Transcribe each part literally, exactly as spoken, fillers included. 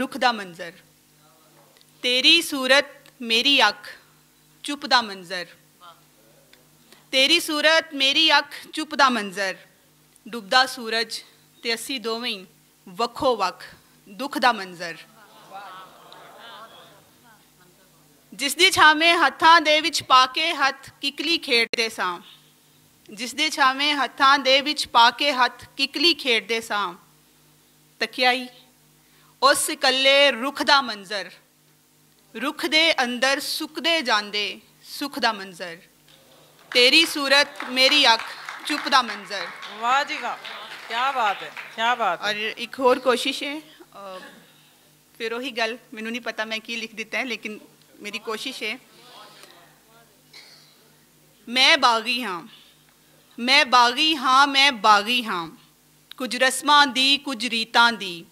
رخ دا منظر۔ تیری صورت میری اکھ چپ دا منظر۔ تیری صورت میری اکھ چپ دا منظر۔ ڈبدا سورج تے اسی دوویں وکھو وکھ دکھ دا منظر۔ جس دی چھاویں ہتھاں دے وچ پا کے ہتھ ککلی کھیڈدے ساں۔ جس دے چھاویں ہتھاں دے وچ پا کے ہتھ ککلی کھیڈدے ساں۔ تکیائی اس اکلے رخ دا منظر۔ رخ دے اندر سکدے جاندے سکھ دا منظر۔ تیری صورت میری اکھ چپ دا منظر۔ واہ جی واہ، کیا بات ہے، کیا بات ہے۔ اور ایک ہور کوشش ہے، آ، پھر وہی گل، مینوں نہیں پتا میں کی لکھ دیتا ہے، لیکن میری کوشش ہے۔ میں باغی ہاں، میں باغی ہاں، میں باغی ہاں۔ کچھ رسماں دی، کچھ ریتاں دی۔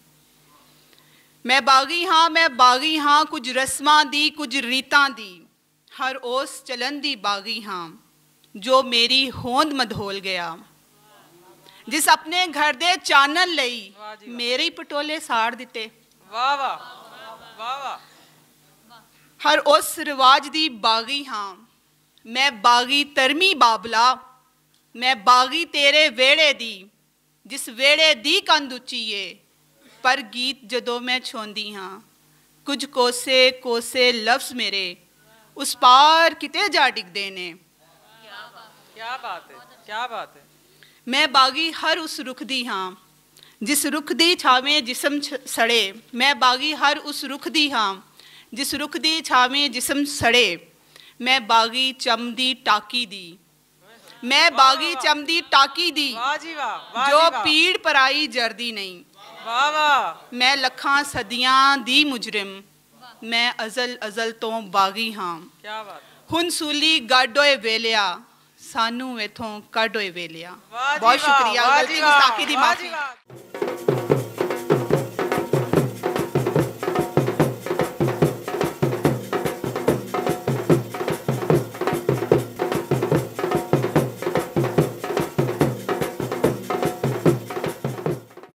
میں باغی ہاں، میں باغی ہاں، کچھ رسماں دی، کچھ ریتاں دی۔ ہر اس چلن دی باغی ہاں، جو میری ہوند مدھول گیا۔ جس اپنے گھر دے چانن لئی میرے ہی پٹولے ساڑ دتے۔ واہ واہ، واہ واہ۔ ہر اس رواج دی باغی ہاں۔ میں باغی ترمی بابلا، میں باغی تیرے ویڑے دی، جس ویڑے دی کند اچی اے، پر گیت جدوں میں چھوندی ہاں، کچھ کوسے کوسے لفظ میرے اس پار کتے جا ڈگدے نے۔ کیا بات ہے، کیا بات ہے۔ میں باغی ہر اس رخ دی ہاں، جس رخ دی چھاویں جسم چھ- سڑے۔ میں باغی ہر اس رخ دی ہاں، جس رخ دی چھاویں جسم سڑے۔ میں باغی چم دی ٹاکی دی، میں باغی چم دی ٹاکی دی، واہ جی واہ، واہ جو جی واہ۔ پیڑ پرائی جردی نہیں۔ واہ واہ۔ میں لکھاں صدیاں دی مجرم، میں ازل ازل تو باغی ہاں۔ کیا بات۔ ہن سولی گڈ ہوئے ویلیا، سانو ایتھوں کڈ ہوئے ویلیا۔ واہ جی بہت واہ، شکریہ، واہ غلطی جی واہ، گستاخی دی واہ معافی۔ جی واہ۔